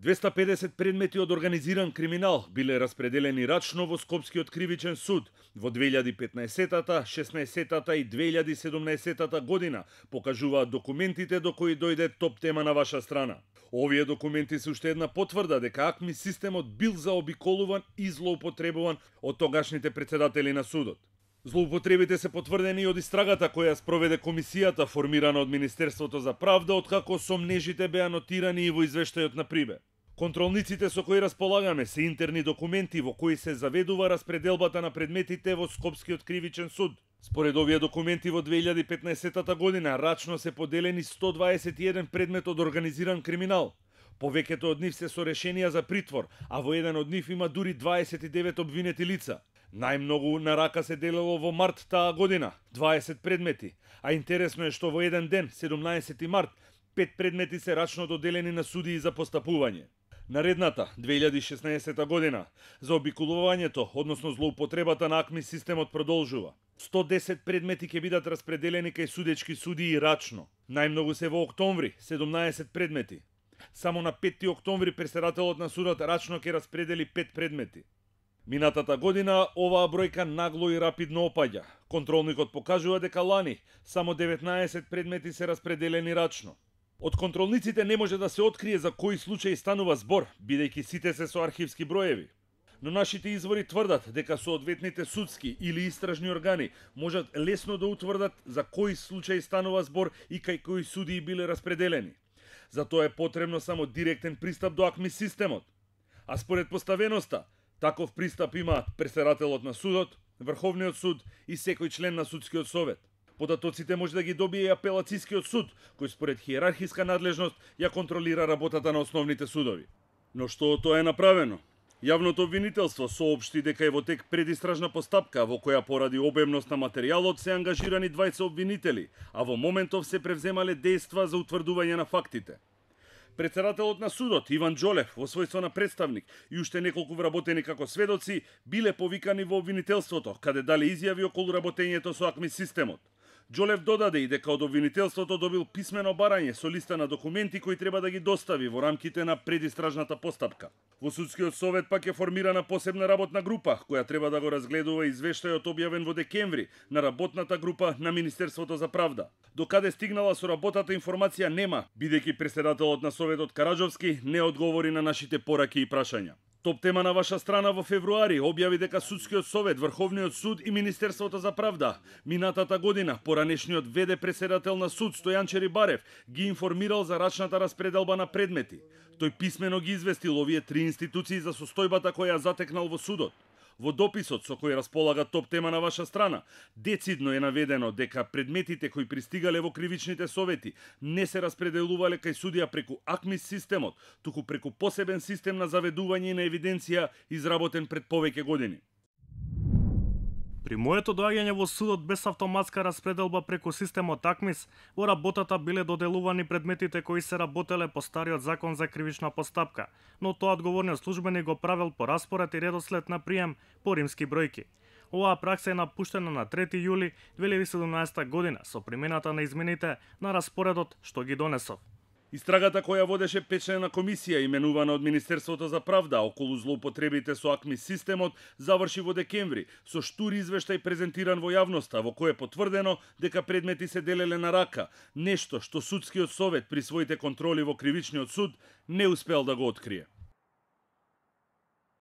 250 предмети од организиран криминал биле распределени рачно во Скопскиот кривичен суд во 2015-та, 16-та и 2017-та година, покажуваат документите до кои дојде топ тема на ваша страна. Овие документи се уште една потврда дека АКМИ системот бил заобиколуван и злоупотребуван од тогашните председатели на судот. Злоупотребите се потврдени од истрагата која спроведе комисијата формирана од Министерството за правда, откако сомнежите беа нотирани и во извештајот на Прибе. Контролниците со кои располагаме се интерни документи во кои се заведува распределбата на предметите во Скопскиот кривичен суд. Според овие документи во 2015 година рачно се поделени 121 предмет од организиран криминал. Повеќето од нив се со решенија за притвор, а во еден од нив има дури 29 обвинети лица. Најмногу на рака се делело во март таа година, 20 предмети, а интересно е што во еден ден, 17 март, 5 предмети се рачно доделени на судии за постапување. Наредната, 2016 година, за обиколувањето, односно злоупотребата на АКМИ системот продолжува. 110 предмети ќе бидат распределени кај судечки судии рачно. Најмногу се во октомври, 17 предмети. Само на 5 октомври председателот на судот рачно ќе распредели 5 предмети. Минатата година оваа бројка нагло и рапидно опаѓа. Контролникот покажува дека лани само 19 предмети се распределени рачно. Од контролниците не може да се открие за кој случај станува збор, бидејќи сите се со архивски броеви. Но нашите извори тврдат дека соодветните судски или истражни органи можат лесно да утврдат за кој случај станува збор и кај кои судии биле распределени. Затоа е потребно само директен пристап до АКМИ системот. А според поставеноста, таков пристап имаат председателот на судот, Врховниот суд и секој член на судскиот совет. Податоците може да ги добие и апелацискиот суд, кој според хиерархиска надлежност ја контролира работата на основните судови. Но што тоа е направено? Јавното обвинителство соопшти дека е во тек предистражна постапка во која поради обемност на материјалот се ангажирани 20 обвинители, а во моментов се превземале дејства за утврдување на фактите. Председателот на судот Иван Џолев во својство на представник и уште неколку вработени како сведоци биле повикани во обвинителството, каде дале изјави околу работењето со АКМИ системот. Џолев додаде и дека од обвинителството добил писмено барање со листа на документи кои треба да ги достави во рамките на предистражната постапка. Во судскиот совет пак е формирана посебна работна група која треба да го разгледува извештајот објавен во декември на работната група на Министерството за правда. До каде стигнала со работата информација нема, бидејќи председателот на Советот Караџовски не одговори на нашите пораки и прашања. Топ тема на ваша страна во февруари објави дека Судскиот совет, Врховниот суд и Министерството за правда минатата година поранешниот ВД председател на суд Стојан Черибарев ги информирал за рачната распределба на предмети. Тој писмено ги известил овие три институции за состојбата која ја затекнал во судот. Во дописот со кој располага топ тема на ваша страна, децидно е наведено дека предметите кои пристигале во кривичните совети не се распределувале кај судија преку АКМИ системот, туку преку посебен систем на заведување на евиденција изработен пред повеќе години. При моето доаѓање во судот без автоматска распределба преку системот АКМИС, во работата биле доделувани предметите кои се работеле по стариот закон за кривична постапка, но тоа одговорниот службеник го правел по распоред и редослед на прием по римски бројки. Оваа пракса е напуштена на 3 јули 2017 година со примената на измените на распоредот што ги донесов. Истрагата која водеше печена комисија именувана од Министерството за правда околу злоупотребите со АКМИ системот заврши во декември со штур извештај презентиран во јавноста во кој е потврдено дека предмети се делеле на рака, нешто што Судскиот совет при своите контроли во Кривичниот суд не успел да го открие.